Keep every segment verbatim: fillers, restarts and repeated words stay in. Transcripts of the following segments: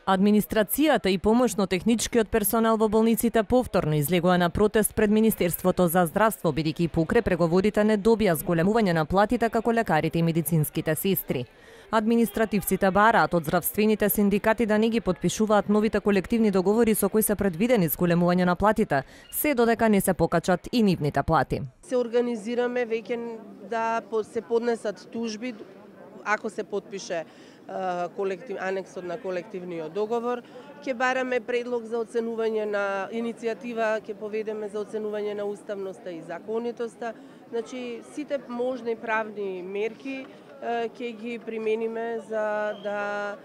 Администрацијата и помошно-техничкиот персонал во болниците повторно излегува на протест пред Министерството за здравство, бидејќи покрај преговорите не добија зголемување на платите како лекарите и медицинските сестри. Административците бараат од здравствените синдикати да не ги потпишуваат новите колективни договори со кои се предвидени зголемување на платите, се додека не се покачат и нивните плати. Се организираме веќе да се поднесат тужби ако се потпише колектив, анексот на колективниот договор. Ќе бараме предлог за оценување на иницијатива, ќе поведеме за оценување на уставноста и законитоста. Значи, сите можни правни мерки ќе ги примениме за да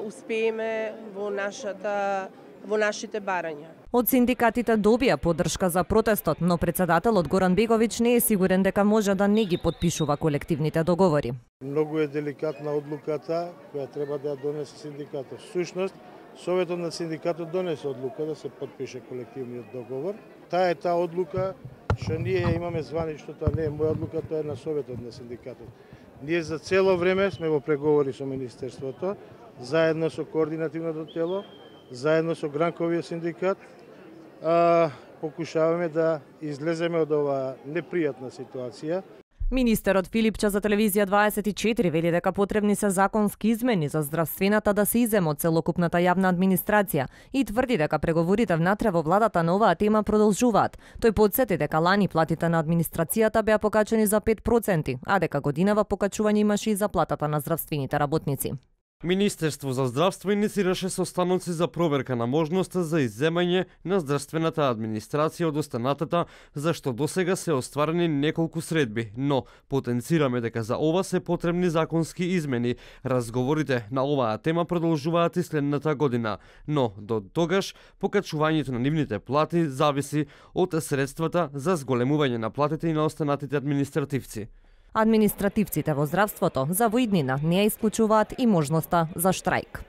успееме во нашата во нашите барања. Од синдикатите добија поддршка за протестот, но председателот Горан Беговиќ не е сигурен дека може да не ги потпишува колективните договори. Многу е деликатна одлуката која треба да ја донесе синдикатот. Всушност, Советот на синдикатот донесе одлука да се потпише колективниот договор. Таа е таа одлука што ние имаме званично, тоа не е моја одлука, тоа е на Советот на синдикатот. Ние за цело време сме во преговори со Министерството, заедно со координативното тело, заедно со Гранковиот синдикат, а, покушаваме да излеземе од оваа непријатна ситуација. Министерот Филипча за телевизија дваесет и четири вели дека потребни се законски измени за здравствената да се изземе од целокупната јавна администрација и тврди дека преговорите внатре во владата на оваа тема продолжуваат. Тој потсети дека лани платите на администрацијата беа покачени за пет проценти, а дека годинава покачување имаше и за платата на здравствените работници. Министерство за здравство иницираше состаноци за проверка на можноста за изземање на здравствената администрација од останатата, за што досега се остварени неколку средби, но потенцираме дека за ова се потребни законски измени. Разговорите на оваа тема продолжуваат и следната година, но до тогаш покачувањето на нивните плати зависи од средствата за зголемување на платите и на останатите административци. Административците во здравството за во иднина не ја исклучуваат и можноста за штрајк.